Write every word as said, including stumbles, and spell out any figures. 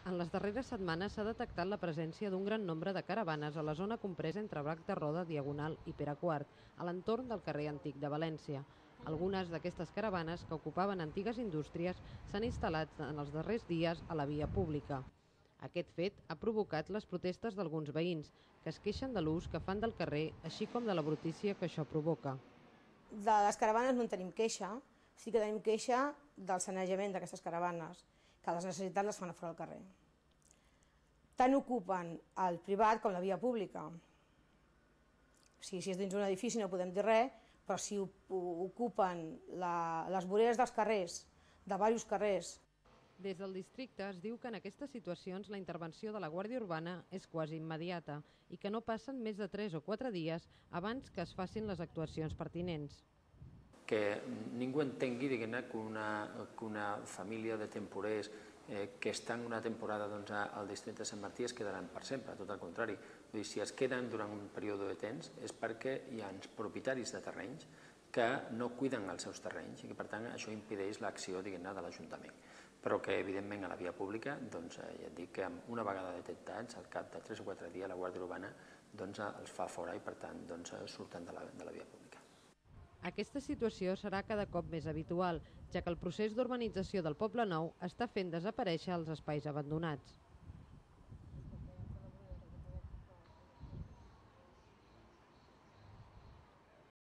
En les darreres setmanes s'ha detectat la presència d'un gran nombre de caravanes a la zona compresa entre Bac de Roda, Diagonal i Pere quart, a l'entorn del carrer Antic de València. Algunes d'aquestes caravanes, que ocupaven antigues indústries, s'han instal·lat en els darrers dies a la via pública. Aquest fet ha provocat les protestes d'alguns veïns, que es queixen de l'ús que fan del carrer, així com de la brutícia que això provoca. De les caravanes no en tenim queixa, sí que tenim queixa del sanejament d'aquestes caravanes, que les necessitats les fan a fora del carrer. Tant ocupen el privat com la via pública. O sigui, si és dins d'un edifici no podem dir res, però si ocupen la, les voreres dels carrers, de diversos carrers. Des del districte es diu que en aquestes situacions la intervenció de la Guàrdia Urbana és quasi immediata i que no passen més de tres o quatre dies abans que es facin les actuacions pertinents. Que ningú entengui diguem-ne que, una, que una família de temporers eh, que estan una temporada doncs, al districte de Sant Martí es quedaran per sempre, tot al contrari. Vull dir, si es queden durant un període de temps és perquè hi ha propietaris de terrenys que no cuiden els seus terrenys i que per tant això impedeix l'acció diguem-ne de l'Ajuntament. Però que evidentment a la via pública, doncs, ja et dic que una vegada detectats, al cap de tres o quatre dies la Guàrdia Urbana doncs, els fa fora i per tant doncs, surten de la, de la via pública. Aquesta situació serà cada cop més habitual, ja que el procés d'urbanització del Poble Nou està fent desaparèixer els espais abandonats.